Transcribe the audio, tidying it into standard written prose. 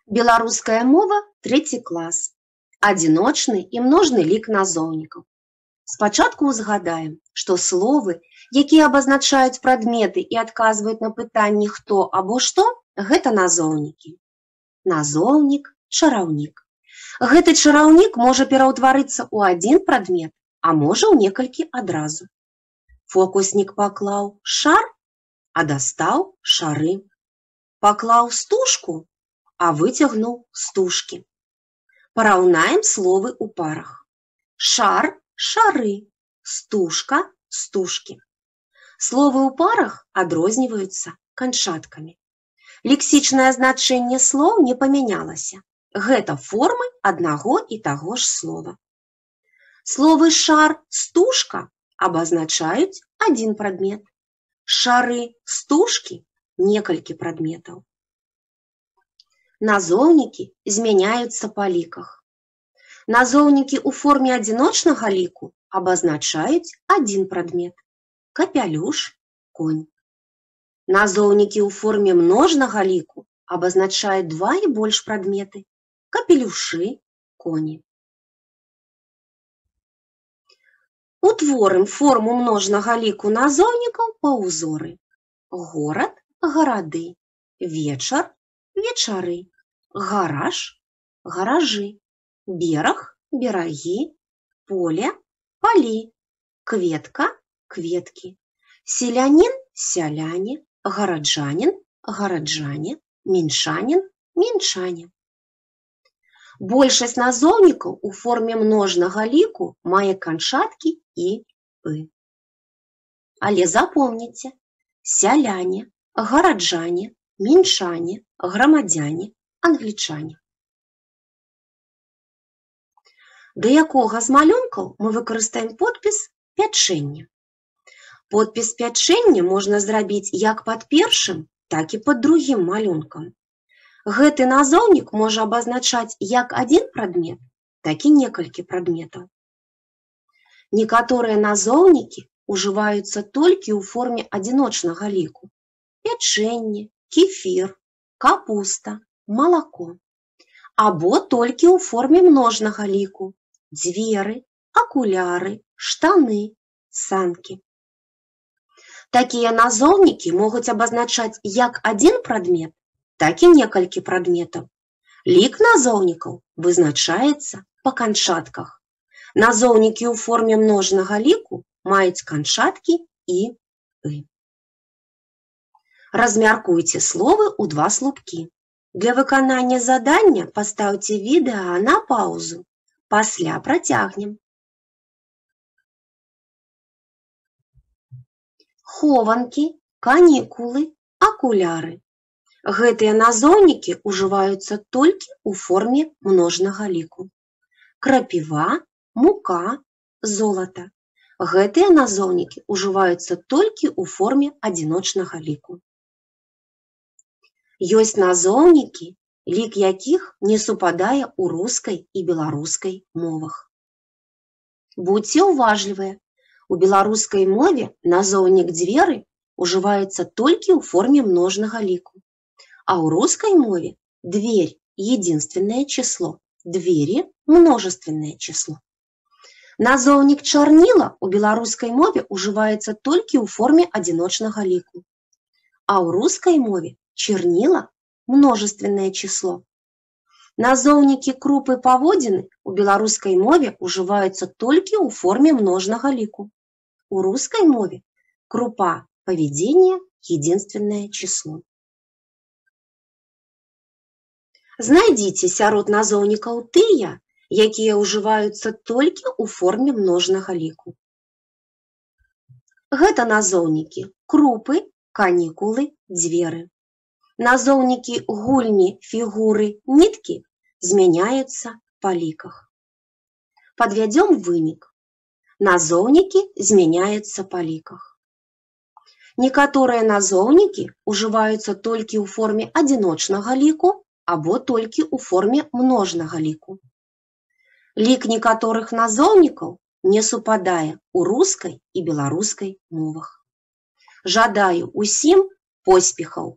Беларуская мова, 3 клас. Адзіночны і множны лік назоўнікаў. Спачатку узгадаем, што словы, якія абазначаюць прадметы і адказваюць на пытанні «хто» або «што», гэта назоўнікі. Назоўнік, чараўнік. Гэты чараўнік можа пераўтварыцца ў адзін прадмет, а можа ў некалькі адразу. Фокуснік паклаў шар, а дастаў шары. Паклаў стужку, а выцягнуў стужкі. Параўнаем словы ў парах. Шар, шары, стужка, стужкі. Словы ў парах адрозніваюцца канчаткамі. Лексічнае значэнне слоў не памянялася. Гэта формы аднаго і таго ж слова. Словы шар, стужка абазначаюць адзін прадмет. Шары, стужкі некалькі прадметаў. Назоўнікі змяняюцца па ліках. Назоўнікі ў форме адзіночнага ліку абазначаюць адзін прадмет. Капялюш, конь. Назоўнікі ў форме множнага ліку абазначаюць 2 і больш прадметы. Капелюшы, коні. Утворым форму множнага ліку назоўнікаў па ўзоры. Горад, гарады. Вечар, вечары. Гараж, гаражы. Бераг, берагі. Поле, палі. Кветка, кветкі. Селянін, сяляне. Гараджанін, гараджане. Мінчанін, мінчане. Большасць назоўнікаў у форме множнага ліку мае канчаткі і «ы». Але запомніце: сяляне, гараджане, мінчане, грамадзяне, англічане. Да якога з малюнкаў мы выкарыстаем подпіс «пячэнне». Подпіс «пячэнне» можна зрабіць як пад першым, так і пад другім малюнкам. Гэты назоўнік можа абазначаць як адзін прадмет, так і некалькі прадметаў. Некаторыя назоўнікі ўжываюцца толькі ў форме адзіночнага ліку. Пячэнне, кефір, капуста, малако. Або толькі ў форме множнага ліку. Дзверы, акуляры, штаны, санкі. Такія назоўнікі могуць абазначаць як адзін прадмет, так і некалькі прадметаў. Лік назоўнікаў вызначаецца па канчатках. Назоўнікі ў форме множнага ліку маюць канчаткі і «ы». Размяркуйце словы ў 2 слупкі. Для выканання задання пастаўце відэа на паўзу. Пасля працягнем. Хованкі, канікулы, акуляры. Гэтыя назоўнікі ўжываюцца толькі ў форме множнага ліку. Крапіва, мука, золата. Гэтыя назоўнікі ўжываюцца толькі ў форме адзіночнага ліку. Ёсць назоўнікі, лік якіх не супадае ў рускай і беларускай мовах. Будзьце ўважлівыя. У беларускай мове назоўнік дзверы ўжываецца толькі ў форме множнага ліку. А ў рускай мове дверь – единственное число, двери – множественное число. Назоўнік чарніла ў беларускай мове ўжываецца толькі ў форме адзіночнага ліку. А ў рускай мове чернила – множественное число. Назоўнікі крупы паводзіны ў беларускай мове ўжываюцца толькі ў форме множнага ліку. У рускай мове крупа поведения – единственное число. Знайдзіце сярод назоўнікаў тыя, якія ўжываюцца толькі ў форме множнага ліку. Гэта назоўнікі крупы, канікулы, дзверы. Назоўнікі гульні, фігуры, ніткі змяняюцца па ліках. Падвядзём вынік. Назоўнікі змяняюцца па ліках. Некаторыя назоўнікі ўжываюцца толькі ў форме адзіночнага ліку або толькі ў форме множнага ліку. Лік некаторых назоўнікаў не супадае ў рускай і беларускай мовах. Жадаю усім поспехаў!